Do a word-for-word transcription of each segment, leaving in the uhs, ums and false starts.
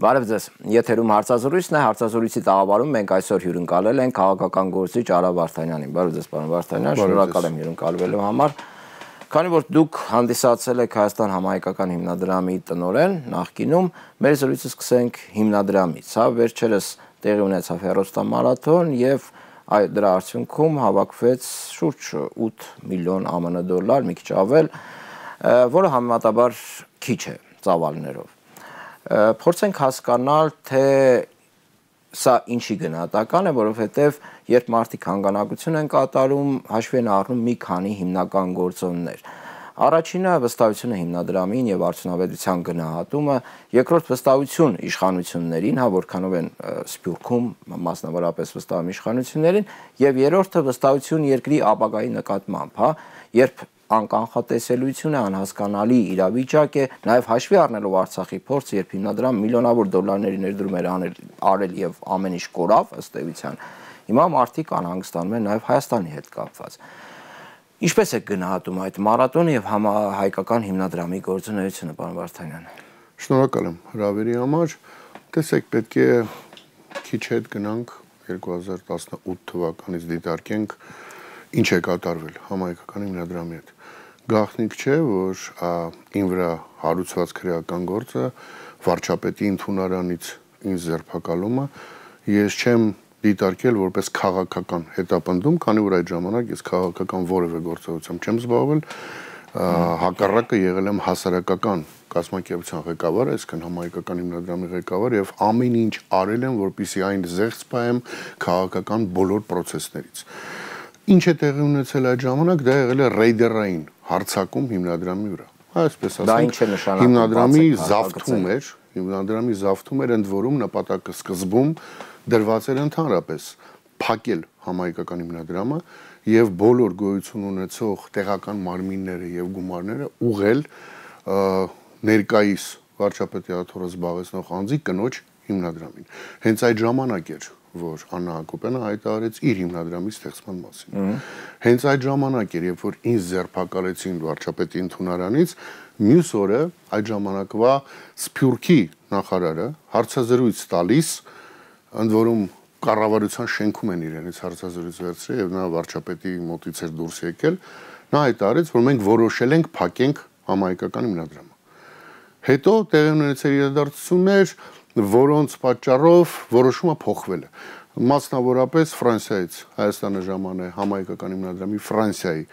Բարև ձեզ, եթերում հարցազրույցն է, հարցազրույցի տաղավարում մենք այսօր հյուրընկալել ենք քաղաքական գործիչ Արա Վարդանյանին։ Բարև ձեզ, պարոն Վարդանյան, շնորհակալ եմ հյուրընկալվելու համար։ Քանի որ դուք հանդիսացել եք Հայաստան համահայկական հիմնադրամի տնօրեն նախկինում, մեր զրույցը սկսենք հիմնադրամից, հա, վերջերս տեղի ունեցավ հեռուստամարաթոն եւ դրա արդյունքում հավաքվեց շուրջ ութ միլիոն ԱՄՆ դոլար, մի քիչ ավել, որը համեմատաբար քիչ է ծավալներով։ Փորձենք հասկանալ, թե սա ինչի գնահատական է, որովհետև երբ մարդիկ հանգանակություն են կատարում, հաշվի են առնում մի քանի հիմնական գործոններ։ Առաջինը վստահությունը հիմնադրամին եւ արդյունավետության գնահատումը, երկրորդ վստահություն իշխանություններին, հա, որքանով են Սփյուռքում մասնավորապես վստահում իշխանություններին, եւ երրորդը վստահություն երկրի ապագայի նկատմամբ, հա, երբ անկանխատեսելիություն է, անհասկանալի իրավիճակ է, նաև հաշվի առնելով Արցախի փորձը, երբ հիմնադրամը միլիոնավոր դոլարների ներդրում էր արել եւ ամեն ինչ կորավ ըստ էության, հիմա մարդիկ անհանգստանում են նաև Հայաստանի հետ կապված։ Ինչպես է գնահատում այդ մարաթոնը եւ համահայկական հիմնադրամի գործունեությունը, պարոն Վարդանյան։ Շնորհակալ եմ հրավերի համար։ Տեսեք, պետք է քիչ հետ գնանք երկու հազար տասնութ թվականից դիտարկենք ինչ է կատարվել համահայկական հիմնադրամի հետ։ Գաղտնիք չէ, որ ին վրա հարուցված քրեական գործը վարչապետի ընդունարանից ինձ ձերբակալումը ես չեմ դիտարկել որպես քաղաքական հետապնդում, քանի որ այդ ժամանակ ես քաղաքական որևէ գործողությամբ չեմ զբաղվել, հակառակը եղել եմ հասարակական կազմակերպության ղեկավար, այսինքն համահայկական հիմնադրամի ղեկավար եւ ամեն ինչ արել եմ, որպեսզի այն զեղծ պահեմ քաղաքական բոլոր process-ներից։ Ինչ է տեղի ունեցել այդ ժամանակ, դա եղել է ռեյդերային հարձակում հիմնադրամի վրա։ Այսպես ասենք, հիմնադրամի զավթում էր, հիմնադրամի զավթում էր, ընդ որում նպատակը սկզբում դրված էր ընդհանրապես փակել համահայկական հիմնադրամը եւ բոլոր գոյություն ունեցող տեղական մարմինները եւ գումարները ուղղել ներկայիս վարչապետի աթոռը զբաղեցնող անձի կնոջ հիմնադրամին։ Հենց այդ ժամանակ էր, որ Աննա Հակոբյանը հայտարարեց իր հիմնադրամի ստեղծման մասին։ Հենց այդ ժամանակ էր, երբ որ ինձ ձերբակալեցին վարչապետի ընդունարանից, մյուս օրը այդ ժամանակվա Սփյուռքի նախարարը հարցազրույց տալիս, ընդ որում կառավարության շենքում են իրենից հարցազրույց վերցրել եւ նա վարչապետի մոտից էր դուրս եկել, նա հայտարարեց, որ մենք որոշել ենք փակենք համահայկական հիմնադրամը։ Հետո տեղի ունեցել իրադարձություններ, որոնց պատճառով որոշումը փոխվել է։ Մասնավորապես Ֆրանսիայից Հայաստանը ժամանե համահայկական հիմնադրամի Ֆրանսիայի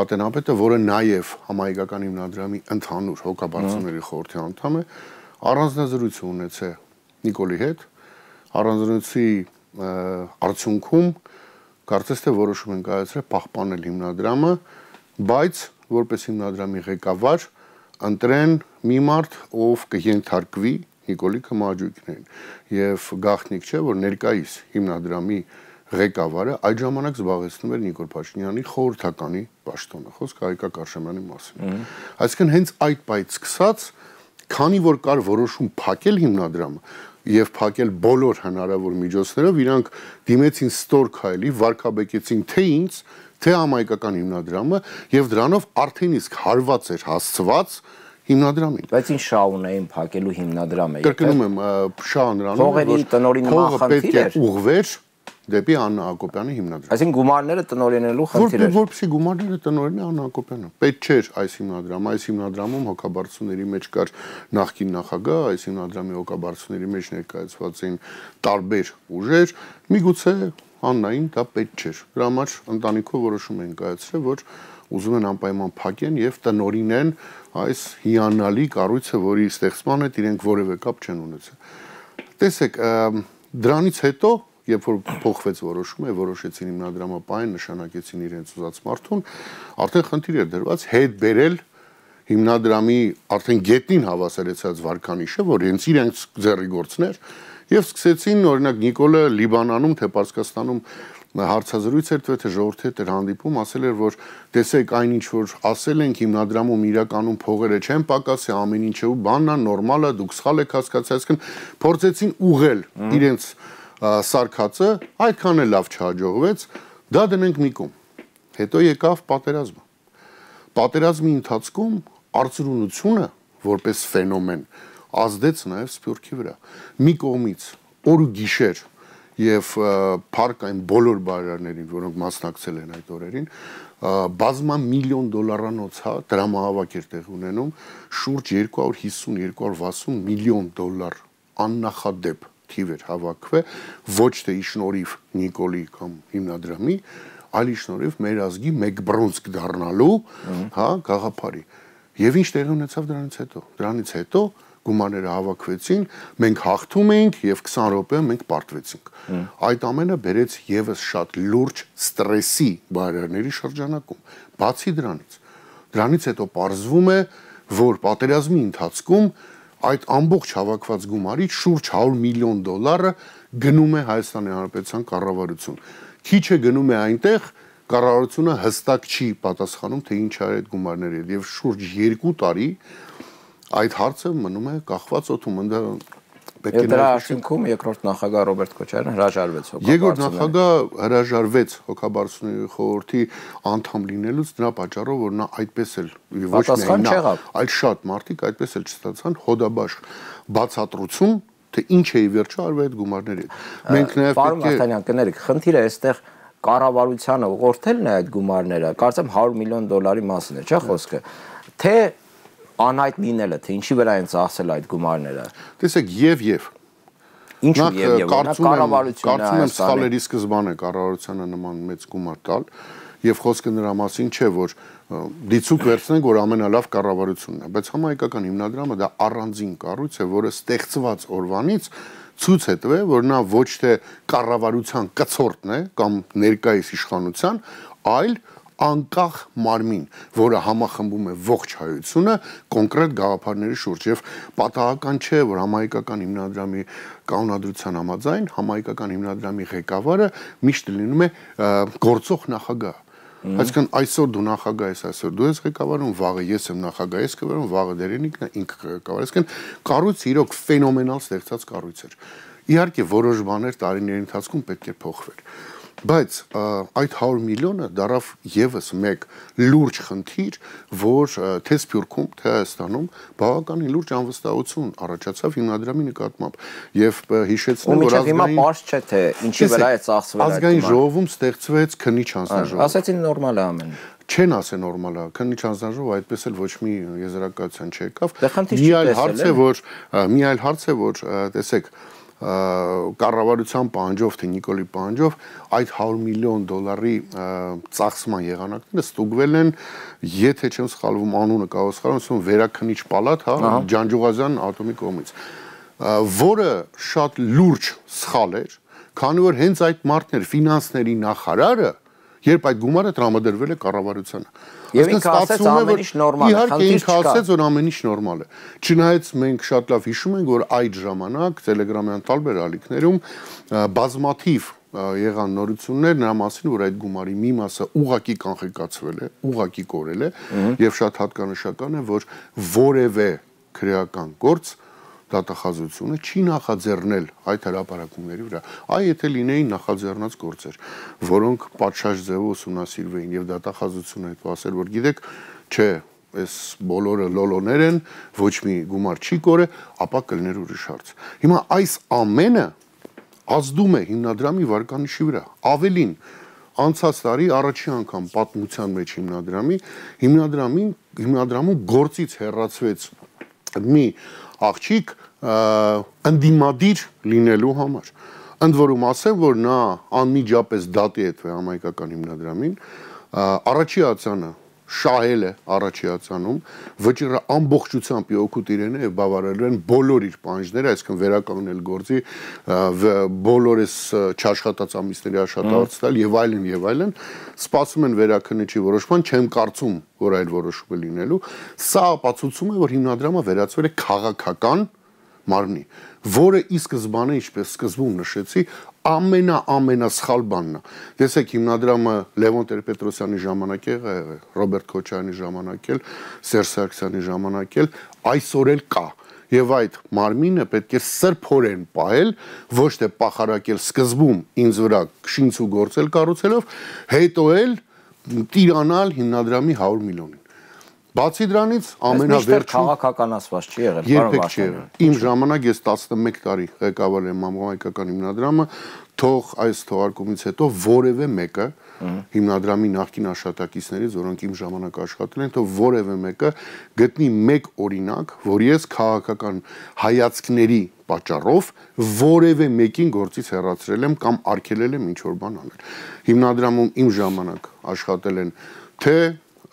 ատենապետը, որը նաև համահայկական հիմնադրամի ընդհանուր հոգաբարձուների խորհրդի անդամ է, առանձնազրույց ունեցել Նիկոլի հետ, առանձնացի արդյունքում կարծես թե որոշում են կայացրել պահպանել հիմնադրամը, բայց որպես հիմնադրամի ղեկավար ընտրեն մի մարդ, ով կենթարկվի Նիկոլի Քմաջուկյանին եւ գաղտնիք չէ, որ ներկայիս հիմնադրամի ղեկավարը այդ ժամանակ զբաղեցնում էր Նիկոլ Փաշինյանի խորհրդականի պաշտոնը, խոսքը Հայկակ Արշամյանի մասին։ Այսինքն հենց այդ պայից սկսած, քանի որ կար որոշում փակել հիմնադրամը եւ փակել բոլոր հնարավոր միջոցներով, իրանք դիմեցին ստոր քայլի, վարկաբեկեցին թե ինձ, թե համահայկական հիմնադրամը եւ դրանով արդեն իսկ հարված էր հասցված հիմնադրամին։ Բայց ինչ շահուն էին փակելու հիմնադրամը։ Կրկնում եմ, շահը նրանում է, որ տնօրինի պետք է ուղղվեր դեպի Աննա Հակոբյանի հիմնադրամ։ Այսինքն գումարները տնօրինելու խնդիր էր։ Որպեսզի գումարները տնօրինի Աննա Հակոբյանը։ Պետք չէր այս հիմնադրամը, այս հիմնադրամում հոգաբարձուների մեջ կար նախկին նախագահ, այս հիմնադրամի հոգաբարձուների մեջ ներկայացված էին տարբեր ուժեր, միգուցե Աննային դա պետք չէր։ Դրա համար ընտանիքով որոշում են կայացրել, որ ուզում են անպայման փակեն եւ տնօրինեն այս հիանալի կառույցը, որի ստեղծման հետ իրենք որևէ կապ չեն ունեցել։ Տեսեք, դրանից հետո երբ որ փոխվեց որոշումը, որոշեցին հիմնադրամը պահեն, նշանակեցին իրենց ուզած մարդուն, արդեն խնդիր էր դրված հետ բերել հիմնադրամի արդեն գետնին հավասարեցած վարկանիշը, որ հենց իրենց ձեռի գործն էր, եւ սկսեցին, օրինակ Նիկոլը Լիբանանում, թե Պարսկաստանում հարցազրույց էր տվել, թե ժողովրդի հետ էր հանդիպում, ասել էր, որ տեսեք այն ինչ որ ասել ենք հիմնադրամում իրականում փողերը չեն պակասի, ամեն ինչը բանն է, նորմալ է, դուք սխալ եք հասկացել, այսինքն փորձեցին ուղղել իրենց սարքածը, այդքան էլ լավ չհաջողվեց, դա դնենք մի կողմ։ Հետո եկավ պատերազմը։ Պատերազմի ընթացքում արծրունությունը որպես ֆենոմեն ազդեց նաև Սփյուռքի վրա։ Մի կողմից օր ու գիշեր եւ փառք այն բոլոր բարերարներին, որոնք մասնակցել են այդ օրերին, բազմա միլիոն դոլարանոց հա դրամահավաք էր տեղ ունենում, շուրջ երկու հարյուր հիսուն երկու հարյուր վաթսուն միլիոն դոլար աննախադեպ թիվ էր հավաքվել, ոչ թե ի շնորհիվ Նիկոլի կամ հիմնադրամի, այլ ի շնորհիվ մեր ազգի մեկ բրոնզկ դառնալու, հա, գաղափարի։ Եվ ինչ տեղի ունեցավ դրանից հետո։ Դրանից հետո գումարները հավաքվեցին, մենք հաղթում էինք եւ քսան րոպե մենք պարտվեցինք։ Այդ ամենը բերեց եւս շատ լուրջ ստրեսի բարերարների շրջանակում։ Բացի դրանից, դրանից հետո պարզվում է, որ պատերազմի ընթացքում այդ ամբողջ հավաքված գումարից շուրջ հարյուր միլիոն դոլարը գնում է Հայաստանի Հանրապետության կառավարություն։ Քիչ է գնում է այնտեղ, կառավարությունը հստակ չի պատասխանում, թե ինչ արի այդ գումարների հետ, եւ շուրջ երկու տարի այդ հարցը մնում է կախված օդում, ընդ պետք է դրա արդյունքում երկրորդ նախագահ Ռոբերտ Քոչարյանը հրաժարվեց հոգաբարձությունից։ Երկրորդ նախագահ հրաժարվեց հոգաբարձությունների խորհրդի անդամ լինելուց դրա պատճառով, որ նա այդպես էլ ոչ միայն նա, այլ շատ մարդիկ այդպես էլ չստացան հոդաբաշխ բացատրություն, թե ինչ է ի վերջո արվել այդ գումարների հետ։ Մենք նաև պետք է Պարոն Վարդանյան, կներեք, խնդիրը այստեղ կառավարությանը ուղղորդելն է այդ գումարները, կարծեմ հարյուր միլիոն դոլարի մասին է, չէ՞ խոսքը։ Թե անհայտ լինելը, թե ինչի վրա են ծախսել այդ գումարները։ Տեսեք, եւ եւ Ինչու եւ եւ կառավարությունը կարծում եմ սխալերի սկզբան է կառավարությանը նման մեծ գումար տալ եւ խոսքը նրա մասին չէ, որ դիցուկ վերցնենք, որ ամենալավ կառավարությունն է, բայց համահայկական հիմնադրամը դա առանձին կառույց է, որը ստեղծված օրվանից ցույց է տվել, որ նա ոչ թե կառավարության կցորդն է կամ ներկայիս իշխանության, այլ անկախ մարմին, որը համախմբում է ողջ հայությունը կոնկրետ գաղափարների շուրջ եւ պատահական չէ, որ համահայկական հիմնադրամի կանոնադրության համաձայն համահայկական հիմնադրամի ղեկավարը միշտ լինում է գործող նախագահ։ Այսինքն այսօր դու նախագահ ես, այսօր դու ես ղեկավարում, վաղը ես եմ նախագահ, ես կվարում, վաղը Դերենիկն է, ինքը ղեկավար։ Այսինքն կառույցը իրոք ֆենոմենալ ստեղծած կառույց էր։ Իհարկե որոշ բաներ տարիների ընթացքում պետք է փոխվեր։ Բայց այդ հարյուր միլիոնը դարավ եւս մեկ լուրջ խնդիր, որ թե Սփյուռքում, թե Հայաստանում բավականին լուրջ անվստահություն առաջացավ հիմնադրամի նկատմամբ եւ հիշեցնեմ, որ ազգային հիմա պարզ չէ թե ինչի վրա է ծախսվել այդ ազգային ժողովում ստեղծվեց քննիչ հանձնաժողով։ Ասացին նորմալ է ամենը։ Չեն ասել նորմալ է, քննիչ հանձնաժողով այդպես էլ ոչ մի եզրակացության չեկավ։ Մի այլ հարց է, որ մի այլ հարց է, որ տեսեք կառավարության պահանջով թե Նիկոլի պահանջով այդ հարյուր միլիոն դոլարի ծախսման եղանակները ստուգվել են, եթե չեմ սխալվում անունը կարող սխալվում, վերաքննիչ պալատ, հա, Ջանջուղազյան ատոմի կողմից, որը շատ լուրջ սխալ էր, քանի որ հենց այդ մարդն էր ֆինանսների նախարարը, երբ այդ գումարը տրամադրվել է կառավարությանը։ Եվ ինքը ասաց ամեն ինչ նորմալ է, իհարկե ինքը ասաց, որ ամեն ինչ նորմալ է։ Չնայած մենք շատ լավ հիշում ենք, որ այդ ժամանակ Տելեգրամյան տարբեր ալիքներում բազմաթիվ եղան նորություններ նրա մասին, որ այդ գումարի մի մասը ուղակի կանխիկացվել է, ուղակի կորել է, եւ շատ հատկանշական է, որ որևէ քրեական գործ դատախազությունը չի նախաձեռնել այդ հրապարակումների վրա։ Այ եթե լինեին նախաձեռնած գործեր, որոնք պատշաճ ձևով ուսումնասիրվեին եւ դատախազությունը հետ ասել, որ գիտեք, չէ, այս բոլորը լոլոներ են, ոչ մի գումար չի կորե, ապա կլներ ուրիշ հարց։ Հիմա այս ամենը ազդում է հիմնադրամի վարկանիշի վրա։ Ավելին, անցած տարի առաջի անգամ պատմության մեջ հիմնադրամի հիմնադրամին հիմնադրամում գործից հեռացվեց մի աղջիկ ընդդիմադիր լինելու համար։ Ընդ որում ասեմ, որ նա անմիջապես դատի է տվել համայնքական հիմնադրամին, առաջի ացանը շահել է առաջի ացանում, վճիռը ամբողջությամբ օգուտ իրեն է եւ բավարարել են բոլոր իր պահանջները, այսինքն վերականգնել գործի, բոլորս չաշխատած ամիսների աշխատավարձ տալ եւ այլն եւ այլն, սպասում են վերաքննիչի որոշման, չեմ կարծում, որ այլ որոշում է լինելու, սա ապացուցում է, որ հիմնադրամը վերածվել է քաղաքական մարմնի, որը ի սկզբանե, ինչպես սկզբում նշեցի, ամենա-ամենասխալ բանն է։ Տեսեք, հիմնադրամը Լևոն Տեր-Պետրոսյանի ժամանակ է եղել, Ռոբերտ Քոչարյանի ժամանակ էլ, Սերժ Սարգսյանի ժամանակ էլ, այսօր էլ կա։ Եվ այդ մարմինը պետք է սրբորեն պահել, ոչ թե պախարակել սկզբում ինձ վրա շինց ու գործել կառուցելով, հետո էլ տիրանալ հիմնադրամի հարյուր միլիոնին։ Բացի դրանից ամենավերջին քաղաքականացված չի եղել, երբեք չի եղել։ Իմ ժամանակ ես տասնմեկ տարի ղեկավարել եմ համահայկական հիմնադրամը, թող այս թողարկումից հետո որևէ մեկը հիմնադրամի նախկին աշխատակիցներից, որոնք իմ ժամանակ աշխատել են, թող որևէ մեկը գտնի մեկ օրինակ, որ ես քաղաքական հայացքների պատճառով որևէ մեկին գործից հեռացրել եմ կամ արգելել եմ ինչ-որ բան անել։ Հիմնադրամում իմ ժամանակ աշխատել են թե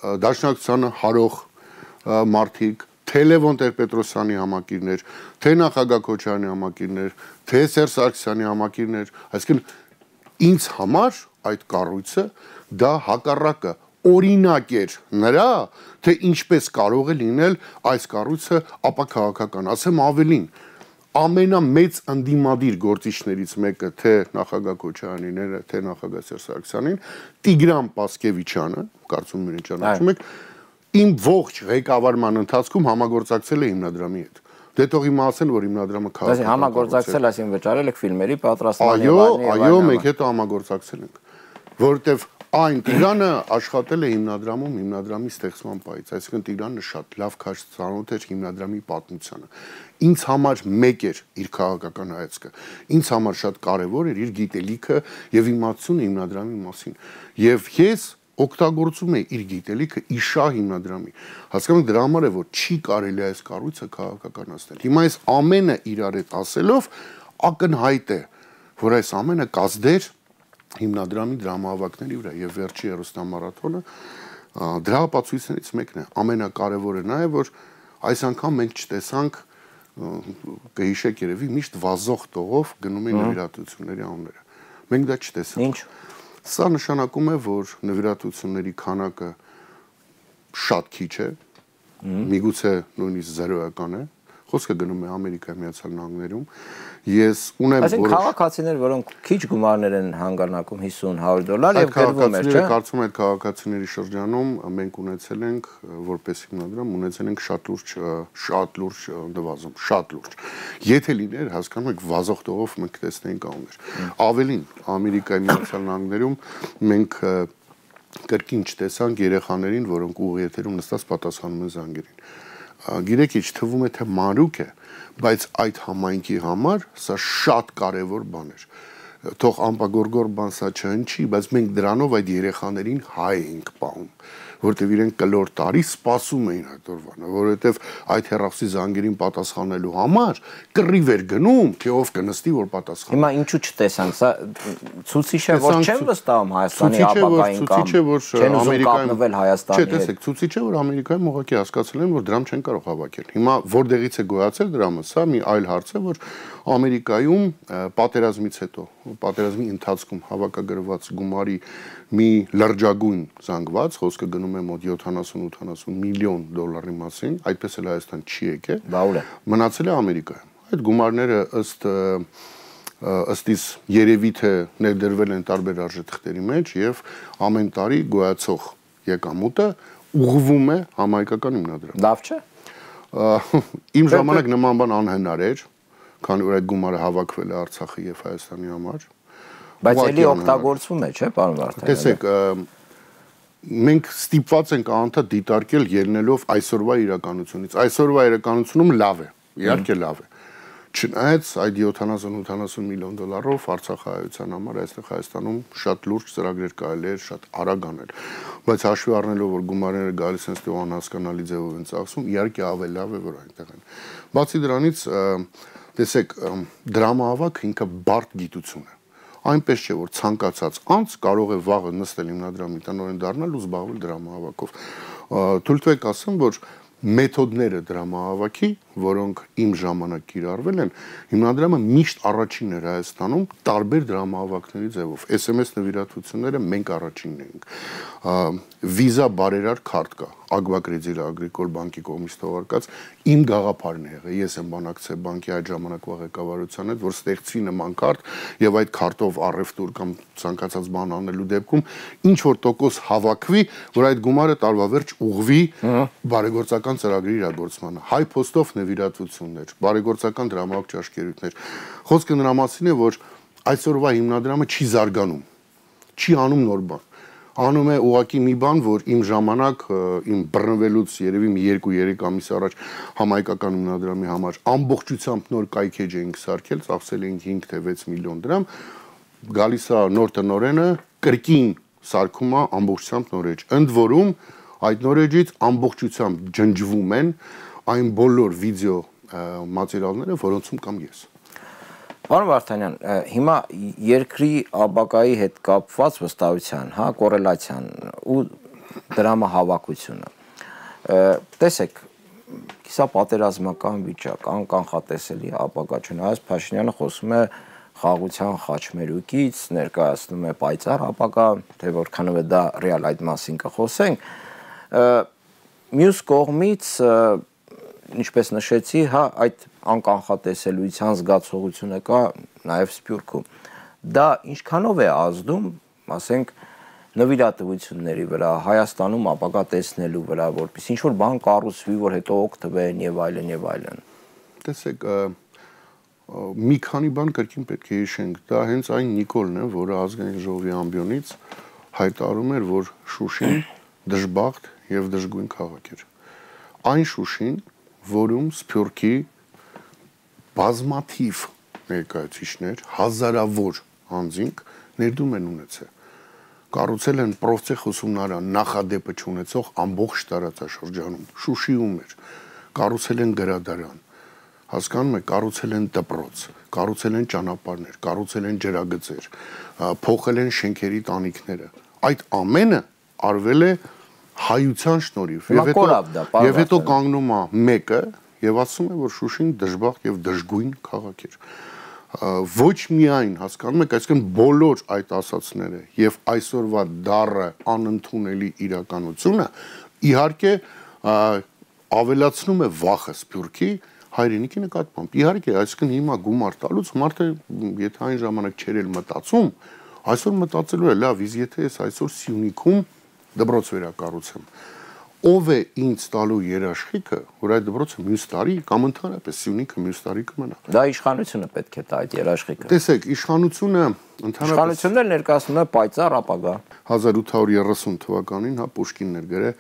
Դաշնակցությանը հարող մարդիկ, թե Լևոն Տեր-Պետրոսյանի համակիրներ, թե նախագահ Քոչարյանի համակիրներ, թե Սերժ Սարգսյանի համակիրներ, այսինքն ինձ համար այդ կառույցը դա հակառակը օրինակ էր նրա, թե ինչպես կարող է լինել այս կառույցը ապաքաղաքական, ասեմ ավելին, ամենամեծ ընդդիմադիր գործիչներից մեկը թե նախագահ Քոչարյանին, թե նախագահ Սերժ Սարգսյանին, Տիգրան Պասկևիչյանը, կարծում եմ ճանաչում եք, իմ ողջ ղեկավարման ընթացքում համագործակցել է հիմնադրամի հետ։ Դե թող իմը ասեն, որ հիմնադրամը քաղաքական համագործակցել, այսինքն վճարել եք ֆիլմերի պատրաստման եւ այլն։ Այո, այո, մենք հետ համագործակցել ենք, որովհետեւ այն Տիգրանը աշխատել է հիմնադրամում հիմնադրամի ստեղծման պայից, այսինքն Տիգրանը շատ լավ քաշ ծանոթ էր հիմնադրամի պատմությանը։ Ինձ համար մեկ էր իր քաղաքական հայացքը, ինձ համար շատ կարևոր էր իր գիտելիքը եւ իմացությունը հիմնադրամի մասին։ Եվ ես օգտագործում է իր գիտելիքը իշա հիմնադրամի։ Հասկանում եք, դրա համար է, որ չի կարելի այս կառույցը քաղաքականացնել։ Հիմա այս ամենը իրար հետ ասելով ակնհայտ է, որ այս ամենը կազդեր հիմնադրամի դրամահավաքների վրա եւ վերջի հերոստամարաթոնը դրա ապացույցներից մեկն է։ Ամենակարևորը նա է, որ այս անգամ մենք չտեսանք, կհիշեք երևի, միշտ վազող տողով գնում են նվիրատվությունների անունները։ Մենք դա չտեսանք։ Ինչ? Սա նշանակում է, որ նվիրատվությունների քանակը շատ քիչ է, միգուցե նույնիսկ զերոյական է, խոսքը գնում է Ամերիկայի Միացյալ Նահանգներում, ես ունեմ որոշ… Այսինքն քաղաքացիներ, որոնք քիչ գումարներ են հանգանակում հիսուն հարյուր դոլար եւ գրվում էր, չէ՞։ Կարծում եմ, այդ քաղաքացիների շրջանում մենք ունեցել ենք, որպես հիմնադրամ, ունեցել ենք շատ լուրջ, շատ լուրջ նվազում, շատ լուրջ։ Եթե լիներ, հասկանում եք, վազող տողով մենք տեսնեինք անուններ։ Ավելին, Ամերիկայի Միացյալ Նահանգներում մենք կրկին չտեսանք երեխաներին, որոնք ուղիեթերում նստած պատասխանում են զանգերին։ Գիտեք, ինչ թվում է, թե մանրուք է, բայց այդ համայնքի համար սա շատ կարևոր բան էր։ Թող ամպագորգոր բան սա չհնչի, բայց մենք դրանով այդ երեխաներին հայ ենք պահում, որտեվ իրենք կլոր տարի սպասում էին այդ օրվանը, որովհետև այդ հեռախոսի զանգերին պատասխանելու համար կռիվ էր գնում, թե ով կնստի, որ պատասխանի։ Հիմա ինչու չտեսանք, սա ցուցիչ է, որ չեն վստահում Հայաստանի ապագային կամ չեն ուզում կապնվել Հայաստանի հետ։ Չէ, տեսեք, ցուցիչ է, որ Ամերիկայում ուղղակի հասկացել են, որ դրամ չեն կարող հավաքել։ Հիմա որտեղից է գոյացել դրամը, սա մի այլ հարց է, որ Ամերիկայում պատերազմից հետո, պատերազմի ընթացքում հավաքագրված գումարի մի լրջագույն զանգված, խոսքը գնում է մոտ յոթանասուն ութանասուն միլիոն դոլարի մասին, այդպես էլ Հայաստան չի եկել, մնացել է Ամերիկայում։ Այդ գումարները ըստ ըստիս երևի թե ներդրվել են տարբեր արժեթղթերի մեջ եւ ամեն տարի գոյացող եկամուտը ուղղվում է համահայկական հիմնադրամ։ Լավ չէ։ Իմ ժամանակ նման բան անհնար էր, քանի որ այդ գումարը հավաքվել է Արցախի եւ Հայաստանի համար։ Բայց էլի օգտագործվում է, չէ՞, պարոն Վարդանյան։ Տեսեք, մենք ստիպված ենք անդադ դիտարկել ելնելով այսօրվա իրականությունից։ Այսօրվա իրականությունում լավ է, իհարկե լավ է։ Չնայած այդ յոթանասուն ութանասուն միլիոն դոլարով Արցախահայության համար այստեղ Հայաստանում շատ լուրջ ծրագրեր կարելի է շատ արագ անել, բայց հաշվի առնելով, որ գումարները գալիս են ստեղ անհասկանալի ձևով են ծախսում, իհարկե ավելի լավ է, որ այնտեղ են։ Բացի դրանից, տեսեք, դրամահավաքը ինքը բարդ գիտություն է։ Այնպես չէ, որ ցանկացած անձ կարող է վաղը նստել հիմնադրամի տնօրեն դառնալ ու զբաղվել դրամահավաքով։ Թույլ տվեք ասեմ, որ մեթոդները դրամահավաքի, որոնք իմ ժամանակ կիրառվել են, հիմնադրամը միշտ առաջինն էր Հայաստանում տարբեր դրամահավաքների ձևով։ էս էմ էս նվիրատվությունները մենք առաջինն ենք։ Վիզա բարերար քարտ կա, Ագվակրեդիտ Ագրիկոլ բանկի կողմից թողարկած, իմ գաղափարն է եղել։ Ես եմ բանակցել բանկի այդ ժամանակվա ղեկավարության հետ, որ ստեղծվի նման քարտ եւ այդ քարտով առևտուր կամ ցանկացած բան անելու դեպքում ինչ որ տոկոս հավաքվի, որ այդ գումարը տարվա վերջ ուղղվի բարեգործական ծրագրի իրագործմանը։ Հայ փոստով նվիրատվություններ, բարեգործական դրամահավաք ճաշկերույթներ։ Խոսքը նրա մասին է, որ այսօրվա հիմնադրամը չի զարգանում, չի անում նոր բան։ անում է ուղակի մի բան, որ իմ ժամանակ իմ բռնվելուց երևի մի երկու երեք ամիս առաջ համայնքական հիմնադրամի համար ամբողջությամբ նոր կայքեջ էինք սարքել, ծախսել էինք հինգ թե վեց միլիոն դրամ, գալիս է նոր տնօրենը, կրկին սարքում է ամբողջությամբ նոր էջ։ Ընդ որում այդ նոր էջից ամբողջությամբ ջնջվում են այն բոլոր վիդեո մատերիալները, որոնցում կամ ես։ Պարոն Վարդանյան, հիմա երկրի ապագայի հետ կապված վստահության, հա, կոռելացիան ու դրամահավաքությունը։ Տեսեք, կիսա պատերազմական վիճակ, անկանխատեսելի ապագա չունի։ Այս Փաշինյանը խոսում է խաղաղության խաչմերուկից, ներկայացնում է պայծառ ապագա, թե որքանով է դա ռեալ, այդ մասին կխոսենք։ Մյուս կողմից, ինչպես նշեցի, հա, այդ անկանխատեսելիության զգացողությունը կա նաև Սփյուռքում։ Դա ինչքանով է ազդում, ասենք, նվիրատվությունների վրա, Հայաստանում ապագա տեսնելու վրա, որպես ինչ որ բան կառուցվի, որ հետո օգտվեն եւ այլն եւ այլն։ Տեսեք, մի քանի բան կրկին պետք է հիշենք, դա հենց այն Նիկոլն է, որը ազգային ժողովի ամբիոնից հայտարարում էր, որ Շուշին դժբախտ եւ դժգույն քաղաք էր։ Այն Շուշին, որում Սփյուռքի բազմաթիվ ներկայացուցիչներ, հազարավոր անձինք ներդրում են ունեցել։ Կառուցել են պրոցես ուսումնարան նախադեպը չունեցող ամբողջ տարածաշրջանում, Շուշիում էր, կառուցել են գրադարան, հասկանում եք, կառուցել են դպրոց, կառուցել են ճանապարհներ, կառուցել են ջրագծեր, փոխել են շենքերի տանիքները։ Այդ ամենը արվել է հայության շնորհիվ։ Եվ հետո եւ հետո կանգնում է մեկը եւ ասում է, որ Շուշին դժբախտ եւ դժգույն քաղաք էր։ Ոչ միայն, հասկանում եք, այսինքն բոլոր այդ ասացները եւ այսօրվա դառը անընդունելի իրականությունը իհարկե ավելացնում է վախը Սփյուռքի հայրենիքի նկատմամբ։ Իհարկե, այսինքն հիմա գումար տալուց մարդը, եթե այն ժամանակ չէր էլ մտածում, այսօր մտածելու է, լավ, իսկ եթե ես այսօր Սյունիքում դպրոց վերակառուցեմ, ով է ինձ տալու երաշխիքը, որ այդ դպրոցը մյուս տարի կամ ընդհանրապես Սյունիքը մյուս տարի կմնա։ Դա իշխանությունը պետք է տա այդ երաշխիքը։ Տեսեք, իշխանությունը ընդհանրապես իշխանությունն էլ ներկայացնում է պայծառ ապագա։ հազար ութ հարյուր երեսուն թվականին, հա, Պուշկինն էր գրել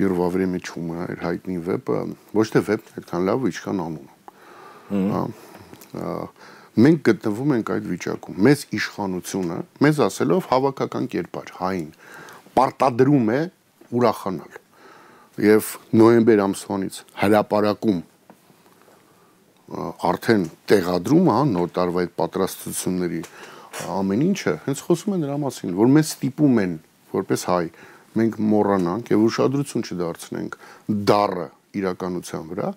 «Первое время чумы», էր հայտնի վեպը, ոչ թե վեպն այդքան լավ, ինչքան անունը։ Մենք գտնվում ենք այդ վիճակում։ Մեզ իշխանությունը, մեզ ասելով հավաքական կերպար, հային, պարտադրում է ուրախանալ։ Եվ նոյեմբեր ամսվանից հրապարակում արդեն տեղադրում, հա, նոր տարվա այդ պատրաստությունների ամեն ինչը, հենց խոսում են նրա մասին, որ մեզ ստիպում են, որպես հայ, մենք մոռանանք եւ ուշադրություն չդարձնենք դառը իրականության վրա,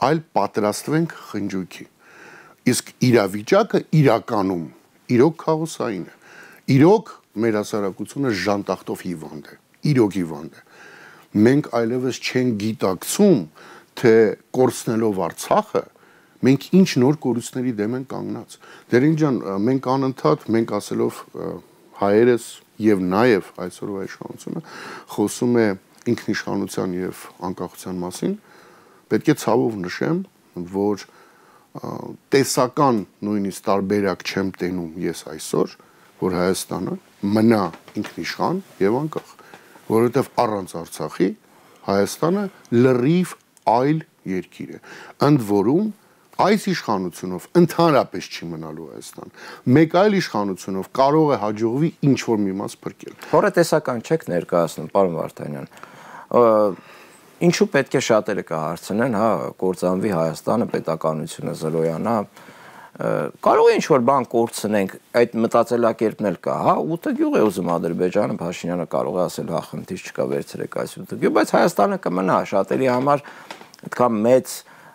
այլ պատրաստվենք խնջույքի։ Իսկ իրավիճակը իրականում իրոք քաոսային է։ Իրոք մեր հասարակությունը ժանտախտով հիվանդ է, իրոք հիվանդ է։ Մենք այլևս չենք գիտակցում, թե կորցնելով Արցախը, մենք ինչ նոր կորուստների դեմ ենք կանգնած։ Դերին ջան, մենք անընդհատ, մենք ասելով հայերս եւ նաեւ այսօրվա իշխանությունը խոսում է ինքնիշխանության եւ անկախության մասին, պետք է ցավով նշեմ, որ տեսական նույնիսկ տարբերակ չեմ տենում ես այսօր, որ Հայաստանը մնա ինքնիշխան եւ անկախ, որովհետեւ առանց Արցախի Հայաստանը լրիվ այլ երկիր է։ Ընդ որում այս իշխանությունով ընդհանրապես չի մնալու Հայաստան։ Մեկ այլ իշխանությունով կարող է հաջողվի ինչ որ մի մաս փրկել։ Հորետեսական չեք ներկայացնում, պարոն Վարդանյան։ Ինչու պետք է շատերը կհարցնեն, հա, կործանվի Հայաստանը, պետականությունը զրոյանա։ Կարող է ինչ որ բան կորցնենք, այդ մտածելակերպն էլ կա, հա, ութ գյուղ է ուզում Ադրբեջանը, Փաշինյանը կարող է ասել, հա, խնդիր չկա, վերցրեք այս ութ գյուղ, բայց Հայաստանը կմնա, շատերի համար այդքան մեծ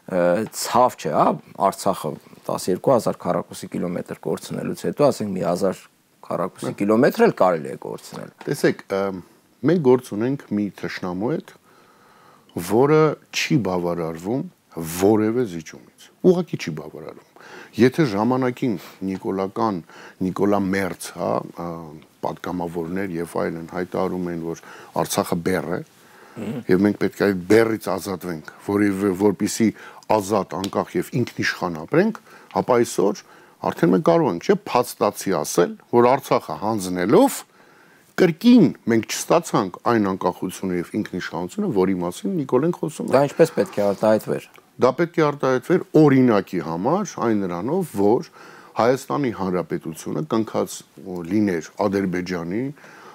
ցավ չէ, հա, Արցախը տասներկու հազար քառակուսի կիլոմետր կորցնելուց հետո, ասենք մի հազար քառակուսի կիլոմետր էլ կարելի է կորցնել։ Տեսեք, մենք գործ ունենք մի թշնամու հետ, որը չի բավարարվում որևէ զիջումից։ Ուղղակի չի բավարարվում։ Եթե ժամանակին Նիկոլական, Նիկոլա Մերց, հա, պատգամավորներ եւ այլն հայտարարում են, որ Արցախը բեռ է, եւ մենք պետք է այդ բեռից ազատվենք, որի որպիսի ազատ, անկախ եւ ինքնիշխան ապրենք, ապա այսօր արդեն մենք կարող ենք, չէ, փաստացի ասել, որ Արցախը հանձնելով կրկին մենք չստացանք այն անկախությունը եւ ինքնիշխանությունը, որի մասին Նիկոլեն խոսում է։ Դա ինչպես պետք է արտահայտվեր։ Դա պետք է արտահայտվեր օրինակի համար, այն նրանով, որ Հայաստանի Հանրապետությունը կնքած լիներ Ադրբեջանի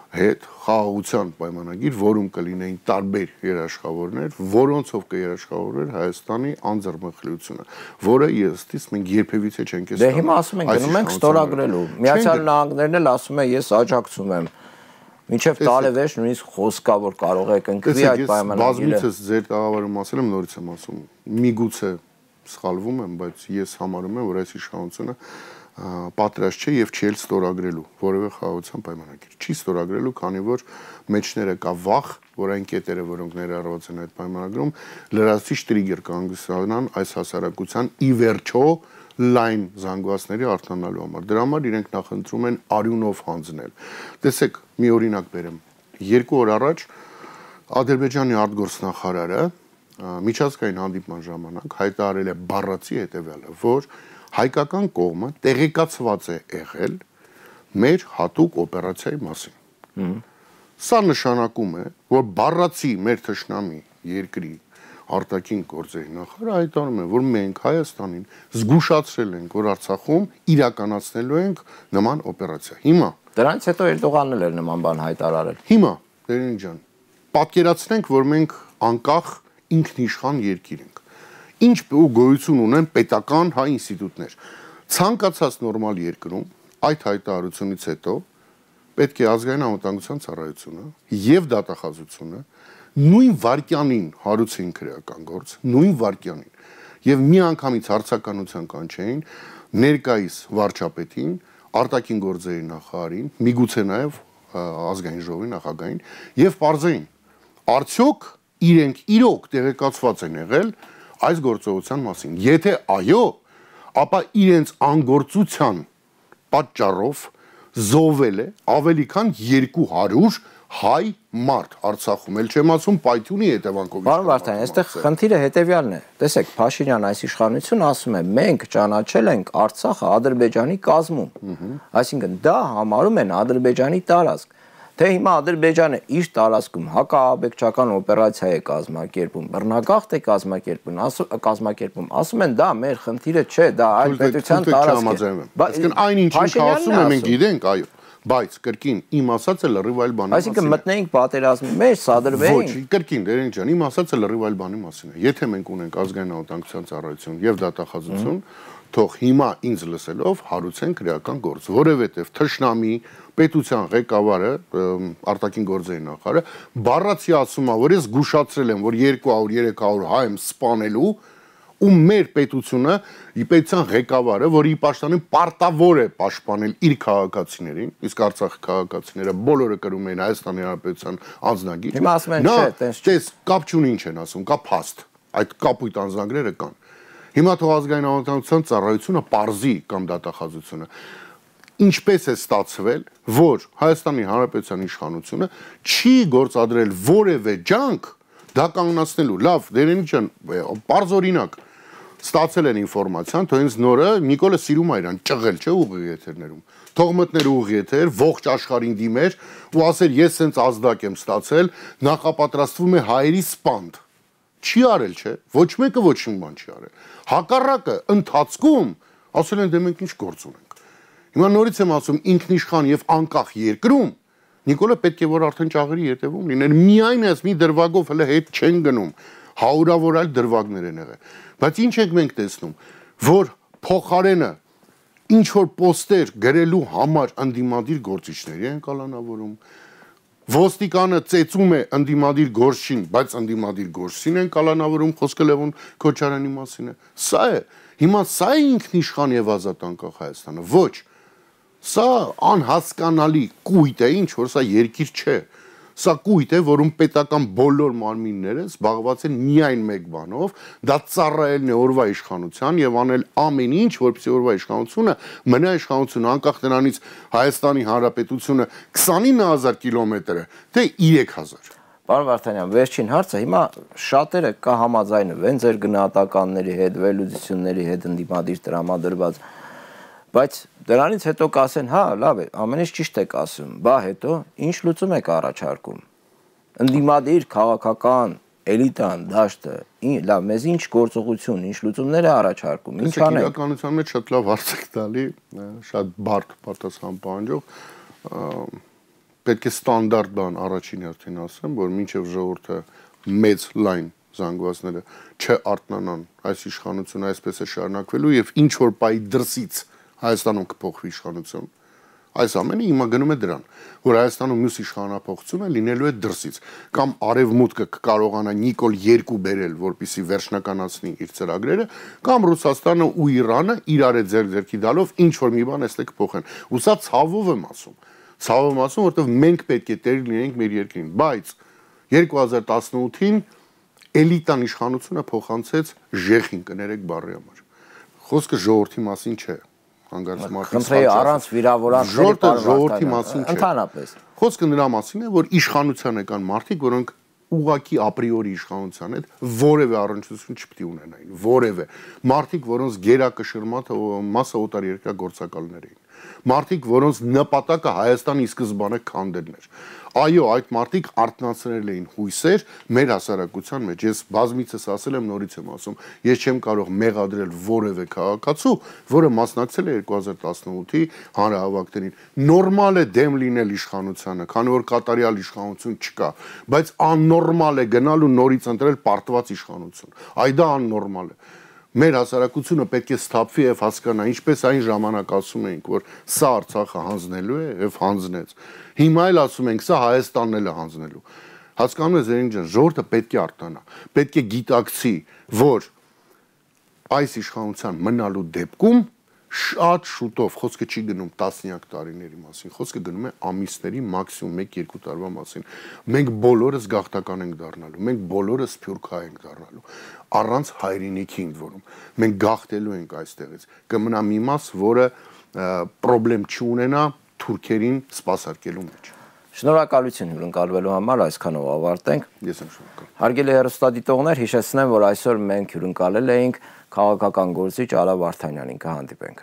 հետ խաղաղության պայմանագիր, որում կլինեին տարբեր երաշխավորներ, որոնցով կերաշխավորվեր Հայաստանի անձեռնմխելիությունը, որը ըստիս մենք երբևիցե չենք տեսել։ Դե հիմա ասում ենք, գնում ենք ստորագրելու։ Միացյալ Նահանգներն էլ ասում են, ես աջակցում եմ։ Մինչև տարեվերջ նույնիսկ խոսքա որ կարող եք ընկվի այդ պայմանագիրը։ Բազմիցս ձեր տաղավարում ասել եմ, նորից եմ ասում, միգուցե սխալվում եմ, բայց ես համարում եմ, որ այս իշխանությունը պատրաստ չէ եւ չի էլ ստորագրելու որևէ խաղաղության պայմանագիր։ Չի ստորագրելու, քանի որ մեջները կա վախ, որ այն կետերը, որոնք ներառված են այդ պայմանագրում, լրացուցիչ տրիգեր կհանգստանան այս հասարակության ի վերջո լայն զանգվածների արտանալու համար։ Դրա համար իրենք նախընտրում են արյունով հանձնել։ Տեսեք, մի օրինակ բերեմ։ Երկու օր առաջ Ադրբեջանի արտգործնախարարը միջազգային հանդիպման ժամանակ հայտարարել է բառացի հետևյալը, որ հայկական կողմը տեղեկացված է եղել մեր հատուկ օպերացիայի մասին։ Սա նշանակում է, որ բառացի մեր թշնամի երկրի արտաքին գործերի նախարարը հայտարարում է, որ մենք Հայաստանին զգուշացրել ենք, որ Արցախում իրականացնելու ենք նման օպերացիա։ Հիմա դրանից հետո Էրդողանն էլ էր նման բան հայտարարել։ Հիմա, Տերին ջան, պատկերացնենք, որ մենք անկախ ինքնիշխան երկիր ենք։ Ինչ գոյություն ունեն պետական հայ ինստիտուտներ։ Ցանկացած նորմալ երկրում այդ հայտարարությունից հետո պետք է ազգային անվտանգության ծառայությունը եւ դատախազությունը նույն վարկյանին հարուցեին քրեական գործ, նույն վարկյանին եւ մի անգամից հարցականության կանչեին ներկայիս վարչապետին, արտաքին գործերի նախարարին, միգուցե նաեւ ազգային ժողովի նախագահին եւ բարձեին արդյոք իրենք իրոք տեղեկացված են եղել այս գործողության մասին։ Եթե այո, ապա իրենց անգործության պատճառով զոհվել է ավելի քան երկու հարյուր հայ մարդ Արցախում, էլ չեմ ասում Պայթյունի հետևանքով։ Պարոն Վարդանյան, այստեղ խնդիրը հետևյալն է։ Տեսեք, Փաշինյան այս իշխանությունը ասում է, մենք ճանաչել ենք Արցախը Ադրբեջանի կազմում։ Այսինքն դա համարում են Ադրբեջանի տարածք։ Թե հիմա Ադրբեջանը իր տարածքում հակաաբեկչական օպերացիա է կազմակերպում, բռնագաղթ է կազմակերպում, կազմակերպում, ասում են դա մեր խնդիրը չէ, դա այլ պետության տարածք է։ Այսինքն այն ինչ ինքը ասում է, մենք գիտենք, այո, բայց կրկին իմ ասածը լրիվ այլ բանի մասին է։ Այսինքն մտնեինք պատերազմի մեջ, սադրվեինք։ Ոչ, կրկին, Տերեն ջան, իմ ասածը լրիվ այլ բանի մասին է։ Եթե մենք ունենք ազգային անվտանգության ծառայություն եւ դատախազություն, թող հիմա ինձ լսելով հարուցեն քրեական գործ, որովհետեւ թշնամի պետության ղեկավարը արտաքին գործերի նախարարը բառացի ասում է, որ ես զգուշացրել եմ, որ երկու հարյուր երեք հարյուր հայ եմ սպանելու ու մեր պետությունը ի պետության ղեկավարը, որի պաշտոնին պարտավոր է պաշտպանել իր քաղաքացիներին, իսկ Արցախի քաղաքացիները բոլորը կրում են Հայաստանի Հանրապետության անձնագիր։ Հիմա ասում են չէ, տես տես կապ չունի ինչ են ասում, կա փաստ։ Այդ կապույտ անձնագրերը կան։ Հիմա թող ազգային անվտանգության ծառայությունը պարզի կամ դատախազությունը ինչպես է ստացվել, որ Հայաստանի Հանրապետության իշխանությունը չի գործադրել որևէ ջանք դա կանգնացնելու։ Լավ, Տերեն ջան, պարզ օրինակ ստացել են ինֆորմացիան, թող ինձ նորը Նիկոլը սիրում է իրան ճղել, չէ, ուղիղ եթերներում։ Թող մտներ ուղիղ եթեր, ողջ աշխարհին դիմեր ու ասեր ես սենց ազդակ եմ ստացել, նախապատրաստվում է հայերի սպանդ։ Չի արել, չէ, ոչ մեկը ոչ մի բան չի արել։ Հակառակը ընթացքում ասել են դե մենք ինչ գործ ունենք։ Հիմա նորից եմ ասում ինքնիշխան եւ անկախ երկրում Նիկոլը պետք է որ արդեն ճաղերի ետևում լիներ, միայն այս մի դրվագով հələ հետ չեն գնում, հարյուրավոր այլ դրվագներ են եղել։ Բայց ինչ ենք մենք տեսնում, որ փոխարենը ինչ որ պոստեր գրելու համար ընդդիմադիր գործիչների են կալանավորում, ոստիկանը ծեծում է ընդդիմադիր գործին, բայց ընդդիմադիր գործին են կալանավորում, խոսքը Լևոն Քոչարյանի մասին է։ Սա է, հիմա սա է ինքնիշխան եւ ազատ անկախ Հայաստանը, ոչ։ Սա անհասկանալի կույտ է, ինչ որ սա երկիր չէ։ Սա կույտ է, որում պետական բոլոր մարմինները զբաղված են միայն մեկ բանով, դա ծառայելն է օրվա իշխանության եւ անել ամեն ինչ, որպեսզի օրվա իշխանությունը մնա իշխանություն, անկախ նրանից Հայաստանի Հանրապետությունը քսանինը հազար կիլոմետր է, թե երեք հազար։ Պարոն Վարդանյան, վերջին հարցը հիմա շատերը կա համաձայնվեն ձեր գնահատականների հետ, վերլուծությունների հետ ընդդիմադիր տրամադրված Բայց դրանից հետո կասեն, հա, լավ է, ամեն ինչ ճիշտ եք ասում, բա հետո ինչ լուծում եք առաջարկում։ Ընդդիմադիր քաղաքական էլիտան, դաշտը, լավ, մեզ ինչ գործողություն, ինչ լուծումներ է առաջարկում, ինչ անենք։ Իրականության մեջ շատ լավ հարց եք տալի, շատ բարդ պատասխան պահանջող, պետք է ստանդարտ բան առաջին հերթին ասեմ, որ մինչև ժողովուրդը մեծ լայն զանգվածները չարթնանան, այս իշխանությունը այսպես է շարունակվելու եւ ինչ որ պայի դրսից Հայաստանում կփոխվի իշխանություն։ Այս ամենը հիմա գնում է դրան, որ Հայաստանում մյուս իշխանապողությունը լինելու է դրսից, կամ արևմուտքը կկարողանա Նիկոլ երկու բերել, որպեսզի վերջնականացնի իր ծրագրերը, կամ Ռուսաստանը ու Իրանը իրար է ձեր-ձերքի դալով ինչ որ մի բան էստե կփոխեն։ Ու սա ցավով եմ ասում։ Ցավով եմ ասում, որովհետև մենք պետք է տեր լինենք մեր երկրին, բայց երկու հազար տասնութին էլիտան իշխանությունը փոխանցեց ժեխին, կներեք բառի համար։ Խոսքը ժողովրդի մասին չէ։ Խնդրեի առանց վիրավորանքների ժողովրդի մասին չէ։ Ընդհանրապես։ Խոսքը նրա մասին է, որ իշխանության եկան մարդիկ, որոնք ուղակի ապրիորի իշխանության հետ որևէ առնչություն չպետք է ունենային, որևէ մարդիկ, որոնց գերակշռմատը մասը օտար երկրյա գործակալներ էին, մարդիկ, որոնց նպատակը Հայաստանի սկզբանե քանդելն էր։ Այո, այդ մարդիկ արթնացրել էին հույսեր մեր հասարակության մեջ։ Ես բազմիցս ասել եմ, նորից եմ ասում, ես չեմ կարող մեղադրել որևէ քաղաքացու, որը մասնակցել է երկու հազար տասնութի հանրահավաքներին։ Նորմալ է դեմ լինել իշխանությանը, քանի որ կատարյալ իշխանություն չկա, բայց աննորմալ է գնալ ու նորից ընտրել պարտված իշխանություն։ Այ դա աննորմալ է։ Մեր հասարակությունը պետք է սթափվի եւ հասկանա, ինչպես այն ժամանակ ասում էինք, որ սա Արցախը հանձնելու է եւ հանձնեց։ Հիմա էլ ասում ենք, սա Հայաստանն էլ է հանձնելու։ Հասկանում եք, Զերին ջան, ժողովուրդը պետք է արտանա, պետք է գիտակցի, որ այս իշխանության մնալու դեպքում շատ շուտով, խոսքը չի գնում տասնյակ տարիների մասին, խոսքը գնում է ամիսների, մաքսիմում մեկ-երկու տարվա մասին։ Մենք բոլորս գաղթական ենք դառնալու, մենք բոլորս սփյուռքահայ ենք դառնալու, առանց հայրենիքի ընդ որում։ Մենք գաղթելու ենք այստեղից։ Կմնա մի մաս, որը պրոբլեմ չունենա թուրքերին սպասարկելու մեջ։ Շնորհակալություն հյուրընկալվելու համար, այսքանով ավարտենք։ Ես եմ շնորհակալ։ Հարգելի հեռուստադիտողներ, հիշեցնեմ, որ այսօր մենք հյուրընկալել էինք քաղաքական գործիչ Արա Վարդանյանին, կհանդիպենք։